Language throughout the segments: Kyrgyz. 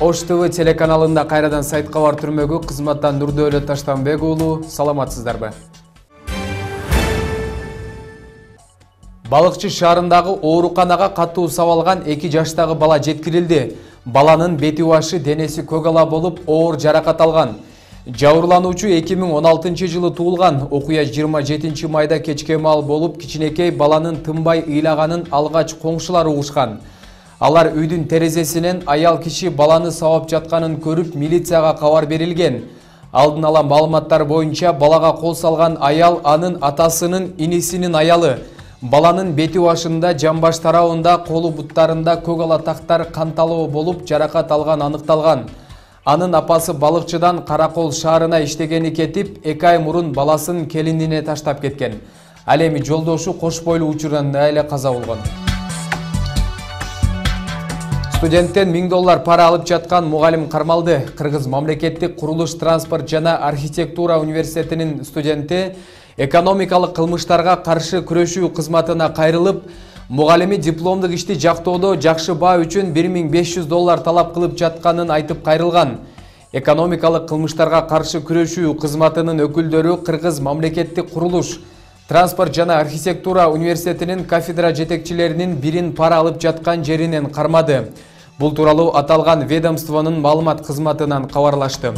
Ош ТВ телеканалында кайрадан сайт кабар түрмөгү кызматтан Нурдөөлөт Таштанбек уулу, саламатсыздарбы? Балыкчы шаарындагы ооруканага катуу сабалган 2 жаштагы бала жеткирилди. Баланын бети башы денеси көк ала болуп, оор жаракат алган. Жабырлануучу 2016 жылы туулган. Окуя 27 майда кечке маал болуп, кичинекей баланын тынбай ыйлаганын алгач коңшулар угушкан. Алар үйдүн терезесинен аял киши баланы сабап жатканын көрүп, милицияга кабар берилген. Алдын ала маалыматтар боюнча балага кол салган аял анын атасынын инисинин аялы. Баланын бети башында, жамбаш тарабында, колу буттарында көк ала тактар канталоо болуп, жаракат алган аныкталган. Анын апасы балыкчыдан Каракол шаарына иштегени кетип, 2 ай мурун баласын келинине таштап кеткен. Ал эми жолдошу кош бойлуу учурдан эле каза болгон. Студенттен $1000 пара алып жаткан мугалим кармалды. Кыргыз мамлекеттик курулуш, транспорт жана архитектура университетинин студенти экономикалык кылмыштарга каршы күрөшүү кызматына кайрылып, мугалими дипломдук ишти жактоодо жакшы баа үчүн $1500 талап кылып жатканын айтып кайрылган. Экономикалык кылмыштарга каршы күрөшүү кызматынын өкүлдөрү Кыргыз мамлекеттик курулуш, транспорт жана архитектура университетинин кафедра жетекчилеринин бирин пара алып жаткан жеринен кармады. Бул тууралуу аталган ведомствонун маалымат кызматынан кабарлашты.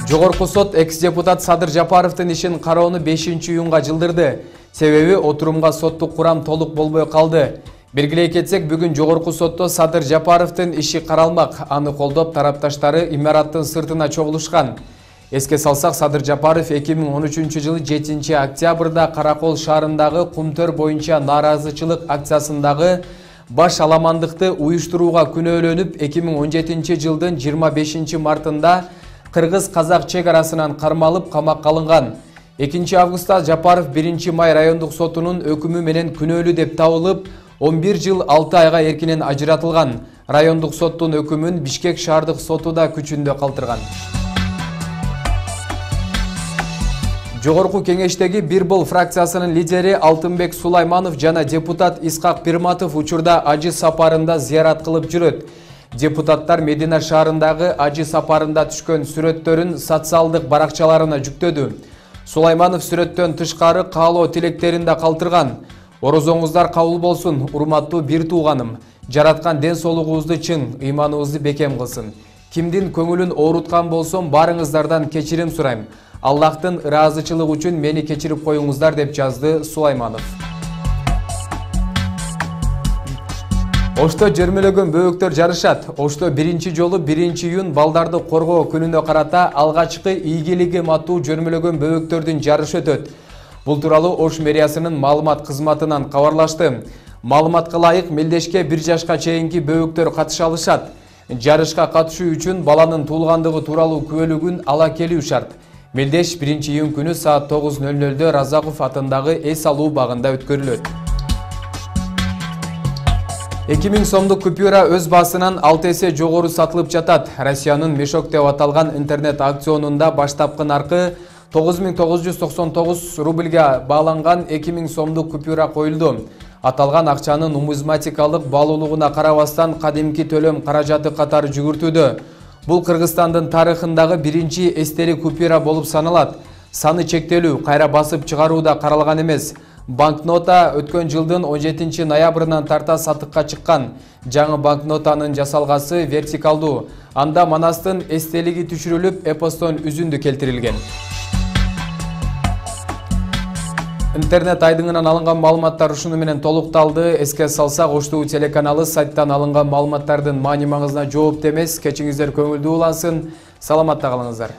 Жогорку сот экс-депутат Садыр Жапаровдун ишин кароону 5-июнга жылдырды. Себеби отурумга соттук курам толук болбой калды. Белгилей кетсек, бүгүн жогорку сотто Садыр Жапаровдун иши каралмак. Аны колдоп тарапташтары имараттын сыртына чогулушкан. Эске салсак, Садыр Жапаров 2013 жылы 7 октябрда Каракол шаарындагы Кумтөр боюнча нааразычылык акциясындагы баш аламандыкты уюштурууга күнөөлөнүп, 2017 жылдын 25 мартында Кыргыз-казак чек арасынан кармалып камакка алынган. 2 августта Жапаров 1 май райондук сотунун өкүмү менен күнөөлүү деп табылып, 11 жыл 6 айга эркинен ажыратылган. Райондук соттун өкүмүн Бишкек шаардык соту да күчүндө калтырган. Жогорку кеңештеги Бир бол фракциясынын лидери Алтынбек Сулайманов жана депутат Исхак Пирматов учурда ажы сапарында зыярат кылып жүрөт. Депутаттар Медина шаарындагы ажы сапарында түшкөн сүрөттөрүн социалдык баракчаларына жүктөдү. Сулайманов сүрөттөн тышкары каалоо тилектерин да калтырган. Орозоңуздар кабыл болсун, урматтуу бир тууганым. Жараткан ден соолугубузду чың, ыйманыбызды бекем кылсын. Кимдин көңүлүн ооруткан болсом, барыңыздардан кечирим сурайм. Аллахтын ыраазычылыгы үчүн мени кечирип коюңуздар, деп жазды Сулайманов. Ошто жөрмөлөгөн бөбөктөр жарышат. Ошто 1 жолу 1 июнь балдарды коргоо күнүнө карата алгачкы ийгилигим аттуу жөрмөлөгөн бөбөктөрдүн жарышы өтөт. Бул тууралуу Ош мэриясынын маалымат кызматынан кабарлашты. Маалыматка ылайык, мелдешке 1 жашка чейинки бөбөктөр катыша алышат. Жарышка катышуу үчүн баланын туулгандыгы тууралуу күбөлүгүн ала келүү шарт. Мелдеш 1 июнь күнү саат 9:00 Разаков атындагы эс алуу багында өткөрүлөт. 2000 сомдук купюра өз басынан 6 эсе жогору сатылып жатат. Россиянын Мешок деп аталган интернет аукционунда баштапкы наркы 9999 рубльга бааланган 2000 сомдук купюра коюлду. Аталган акчанын нумизматикалык баалуулугуна карабастан кадимки төлөм каражаты катары жүгүртүүдө. Бул Кыргызстандын тарыхындагы биринчи эстелик купюра болуп саналат. Саны чектелүү, кайра басып чыгаруу да каралган эмес. Банкнота өткөн жылдын 17 ноябрынан тарта сатыкка чыккан. Жаңы банкнотанын жасалгасы вертикалдуу. Анда Манастын эстелиги түшүрүлүп, эпостон үзүндү келтирилген. Интернет айдыңынан алынган маалыматтар ушуну менен толукталды. Эске салсак, Ош ТВ телеканалы сайттан алынган маалыматтардын маани маңызына жоопту эмес. Кечиңиздер көңүлдүү улансын. Саламатта калыңыздар.